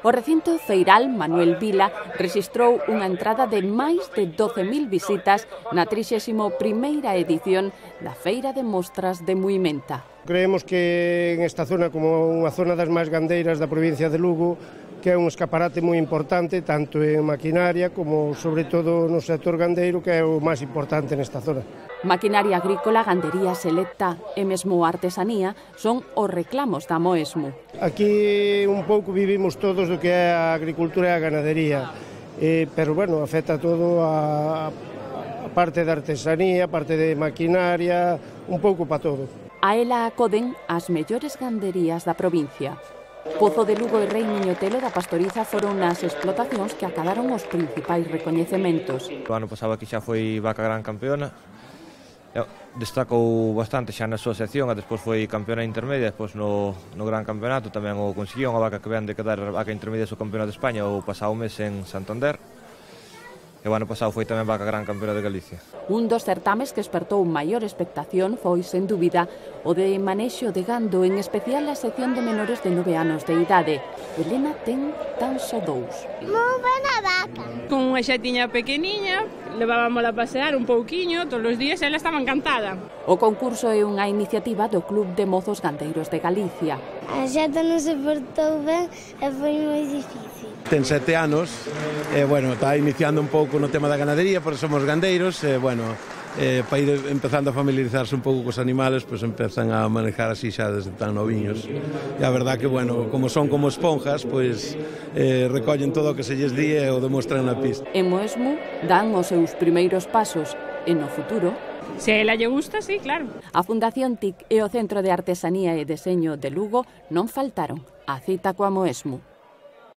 O recinto feiral Manuel Vila rexistrou unha entrada de máis de 12.000 visitas na 31ª edición da Feira de Mostras de Muimenta. Creemos que en esta zona, como unha zona das máis gandeiras da provincia de Lugo, que é un escaparate moi importante, tanto en maquinaria como, sobre todo, no sector gandeiro, que é o máis importante nesta zona. Maquinaria agrícola, gandería selecta e mesmo artesanía son os reclamos da Moesmu. Aquí un pouco vivimos todos do que é a agricultura e a ganadería, pero, bueno, afecta todo a parte da artesanía, a parte de maquinaria, un pouco para todo. A ela acoden as mellores ganderías da provincia. Pozo de Lugo e Rei Miñotelo da Pastoriza foron as explotacións que acadaron os principais recoñecementos. O ano pasado aquí xa foi vaca gran campeona, destacou bastante xa na súa sección, e despois foi campeona intermedia, despois no gran campeonato tamén o conseguiu, unha vaca que ven de quedar vaca intermedia do campeonato de España o pasado mes en Santander. E o ano pasado foi tamén vaca gran campeona de Galicia. Un dos certames que espertou maior expectación foi, sen dúbida, o de manexo de gando, en especial a sección de menores de 9 anos de idade. Elena ten tan só 2. Moi buena vaca. Con unha xatiña pequeniña, levábamos a pasear un pouquiño todos os días e ela estaba encantada. O concurso é unha iniciativa do Club de Mozos Gandeiros de Galicia. A xata non se portou ben e foi moi difícil. Ten 7 anos, bueno, está iniciando un pouco no tema da ganadería, porque somos gandeiros, bueno, para ir empezando a familiarizarse un pouco cos animales, pois empezan a manejar así xa desde tan noviños. E a verdad que, bueno, como son como esponjas, pois recollen todo o que se lles di e o demostran na pista. En Moesmu dan os seus primeiros pasos e no futuro. Se a ela lle gusta, sí, claro. A Fundación TIC e o Centro de Artesanía e Deseño de Lugo non faltaron a cita coa Moesmu.